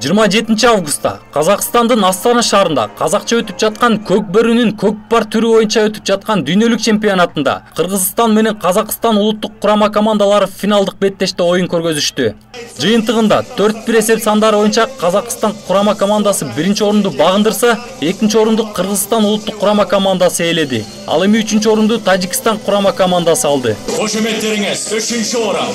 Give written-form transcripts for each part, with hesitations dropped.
27 августта Казакстандын Астана шаарында казакча өтүп жаткан көк бөрүнүн көкпар түрү боюнча өтүп жаткан дүйнөлүк чемпионатында Кыргызстан менен Казакстан улуттук курама командалары финалдык беттеште оюн көргөзүштү. Жыйынтыгында 4-1 эсеп сандары боюнча Казакстан курама командасы 1-орунду багындырса, 2-орунду Кыргызстан улуттук курама командасы ээледи. Ал эми 3-орунду Тажикстан курама командасы алды. Кошеметтериңиз 3-орун.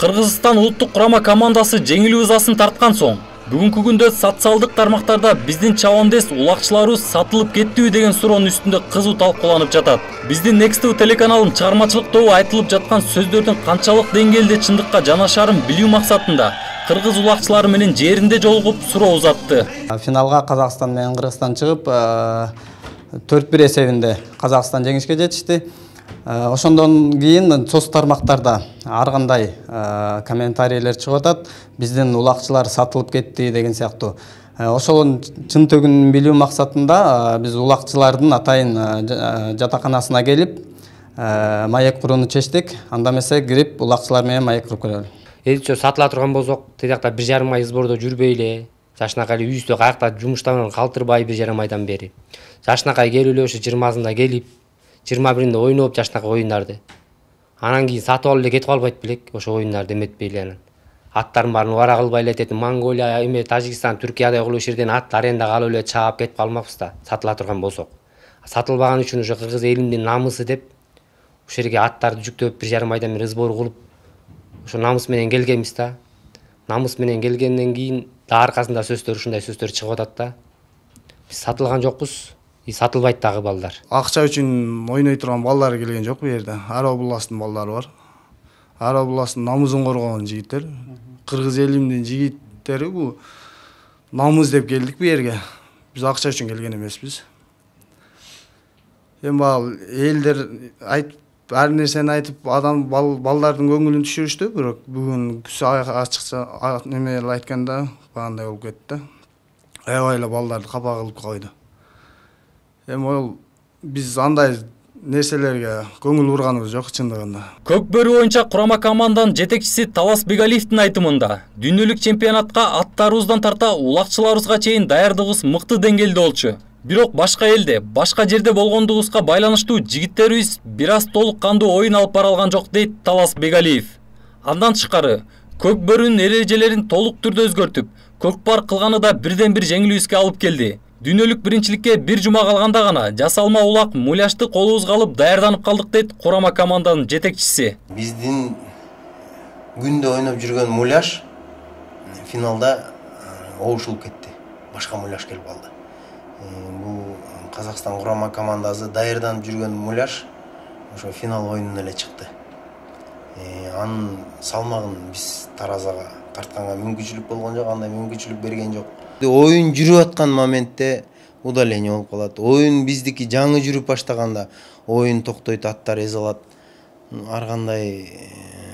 Кыргызстан улуттук курама командасы жеңил ызасын тарткан соң, бүгүнкү күндө социалдык тармактарда биздин чабандес улакчыларыбыз сатылып кеттиби деген суроонун үстүндө кызуу талкууланып жатат. Биздин Next телеканалынын чыгармачылык тобу айтылып жаткан сөздөрдүн канчалык деңгээлде чындыкка жанашарын билүү максатында кыргыз улакчылары менен жеринде жолугуп суроо узатты. Финалга Казакстан менен Кыргызстан чыгып, 4-1 эсебинде Казакстан жеңишке жетишти. Ошондон кийин соц тармактарда ар кандай комментарийлер чыгып атат. Биздин улакчылар сатылып кетти деген сыяктуу. Ошонун чын төгүнүн билүү максатында биз улакчылардын атайын жатаканасына келип, маек курууну чечтик. Анда эмесе кирип улакчылар менен маек куруп келели. Элче сатыла турган болсок, тиякта 1,5 ай сбордо жүрбөйлү, жашынакай үйүстө каякта жумуштан калтырбай 1,5 айдан бери. Жашынакай келип эле ошо 20-сында келип 21-inde ойноп жашынакай оюндарды. Анан кийин сатып алып эле кетип калбайт белек, ошо оюндарды эметпей эле анан. Аттарын баарын убара кылбай эле этет. Монголия, эме Тажикстан, Түркияда кылып жерден ат аренда алып эле чаап кетип калмакпыз да, сатыла турган болсок. Сатылбаган үчүн ошо кыргыз элинин намысы деп ошо жерге аттарды жүктөп 1,5 айдан бери сбор кылып, ошо намыс менен келгенбиз да. Намыс менен келгенден кийин да аркасында сөздөр ушундай сөздөр чыгып атат да. Биз сатылган жокпуз. Сатылбайт дагы балдар. Акча үчүн ойной турган балдар келген жок бу жерде. Ар областтын балдары бар. Ар областтын намысын коргогон жигиттер. Кыргыз элинин жигиттери бу намыс деп келдик бу жерге. Биз акча үчүн келген эмеспиз. Эми ал элдер айтып ар нерсени айтып адам балдардын көңүлүн түшүрүштү, бирок бүгүн ачыкча неме айтканда багандай болуп кетти. Аябай эле балдарды капа кылып койду. Эми ол биз андай нерселерге көңүл бурганыбыз жок чындыгында. Көк бөрү боюнча курама команданын жетекчиси Талас Бегалиевдин айтымында, дүйнөлүк чемпионатка аттарыбыздан тарта улакчыларыбызга чейин даярдыгыбыз мыкты деңгээлде болчу. Бирок башка элде, башка жерде болгондугубузга байланыштуу жигиттерибиз бир аз толук кандуу оюн алып бара алган жок дейт Талас Бегалиев. Андан тышкары, көк бөрүнүн эрежелерин толук түрдө өзгөртүп, көкпар кылганы да бирден бир жеңилүүбүзгө алып келди. Дүйнөлүк биринчиликке бир жума калганда гана жасалма улак муляшты колубузга алып даярданып калдык дейт курама команданын жетекчиси. Биздин күндө ойноп жүргөн муляш финалда оушулуп кетти. Башка муляш келип калды. Бул Казакстан курама командасы даярданып жүргөн муляш ошо финал оюнуна эле чыкты. Анын салмагын биз таразага тартканга мүмкүнчүлүк болгон жок, андай мүмкүнчүлүк берген жок. Оюн жүрүп аткан моментте удаление болуп калат. Оюн биздики жаңы жүрүп баштаганда оюн токтойт, аттар эзе алат. Ар кандай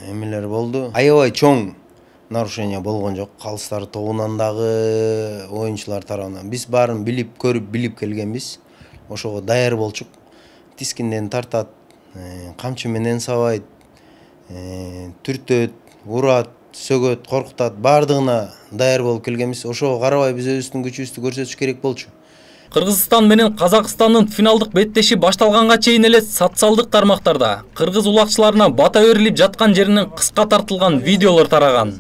эмелер болду. Аябай чоң нарушение болгон жок. Калыстар тобунан дагы оюнчулар тарабынан. Биз баарын билип, көрүп, билип келгенбиз. Ошого даяр болчук. Тискинден тартат, камчы менен сабайт, түртөт, урат, сөгөт, коркутат, бардыгына даяр болуп келгенбиз. Ошого карабай биз өзүбүздүн күчүбүздү көрсөтүш керек болчу. Кыргызстан менен Казакстандын финалдык беттеши башталганга чейин эле социалдык тармактарда кыргыз улакчыларына бата берилип жаткан жеринен кыска тартылган видеолор тараган.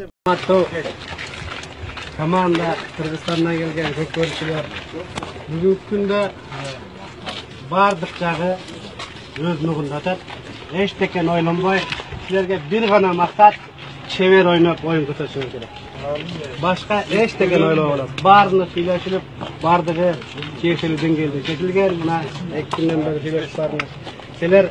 Команда Кыргызстандан келген көкбөрүчүлөр бүгүнкү күндө бардык жагы өз нугунда атат. Эчтекен ойлонбой, силерге бир гана мактат, чебер ойноп оюн көрсөтүшүңүз керек. Башка эчтекен ойлоболот. Баарына сүйлөшүлүп, бардыгы тиешелүү деңгээлде чечилген. Мына 2 күндөн бери сүйлөшүп бардыңыз. Силер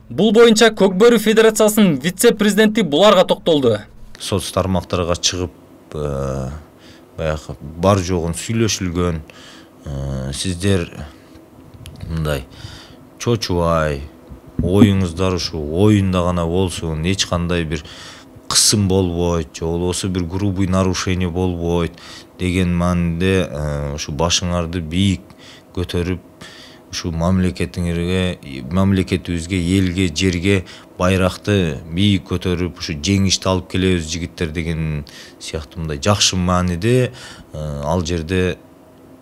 Бул боюнча Көк бөрү федерациясынын вице-президенти буларга токтолду. Соц тармактарга чыгып, баягы бар жогун сүйлөшүлгөн, сиздер мындай чочубай, оюңуздар ушу оюнда гана болсун, эч кандай бир кысым болбойт, же болбосо бир грубый нарушение болбойт деген маанинде ушу башыңарды бийик көтөрүп ушул мамлекетибизге, элге, жерге байракты бийик көтөрүп, ушу жеңишти алып келебиз жигиттер деген сыяктуу мындай жакшы мааниде ал жерде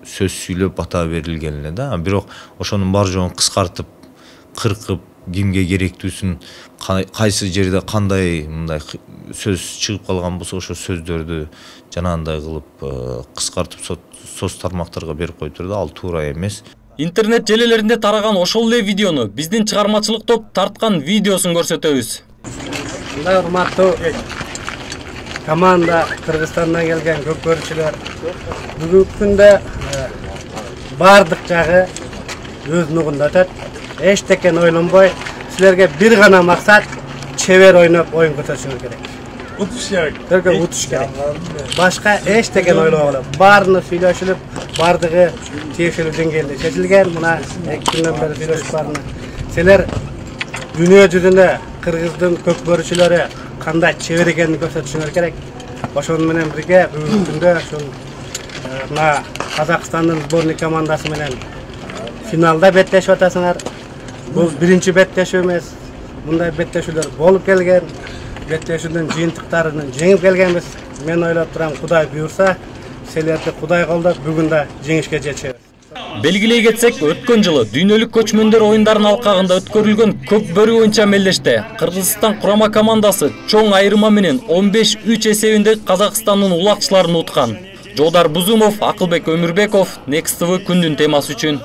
сөз сүйлөп бата берилген эле да. Бирок ошонун бар жоогун кыскартып, кыркып, кимге керектүүсүн, кайсы жерде кандай мындай сөз чыгып калган болсо ошол сөздөрдү жанагындай кылып кыскартып соц тармактарга берип коюптур да, ал туура эмес. Интернет желелеринде тараган ошол эле видеону биздин чыгармачылык топ тарткан видеосун көрсөтөбүз. Мындай урматтуу команда, Кыргызстандан келген көп көрүүчүлөр, бүгүнкү күндө бардык жагы өз нугунда өтөт. Эчтекен ойлонбой, силерге бир гана максат чебер ойноп оюн көрсөтүшүңүз керек. Утуш керек. Башка эчтекен ойлобогула. Баарына сүйлөшүлүп, бардыгы тиешелүү деңгээлде чечилген. Мына 2 күндөн бери сүйлөшүп барына. Силер дүйнө жүзүндө Кыргыздын көп көрүүчүлөрү кандай чебер экенин көрсөтүшүңөр керек. Ошону менен бирге бүгүнкү күндө ушул мына Казакстандын сборный командасы менен финалда беттешип атасыңар. Бул биринчи беттешүү эмес. Мындай беттешүүлөр болуп келген. Беттешүүнүн жыйынтыктарын жеңип келгенбиз. Мен ойлоп турам, Кудай буйрса, силерди Кудай колдоп, бүгүн да жеңишке жетишебиз. Белгилей кетсек, өткөн жылы дүйнөлүк көчмөндөр оюндарынын алкагында өткөрүлгөн көк бөрү боюнча мелдеште Кыргызстан курама командасы чоң айырма менен 15-3 эсебинде Казакстандын улакчыларын уткан. Жолдар Бузумов, Акылбек Өмүрбеков, Next TV күндүн темасы үчүн.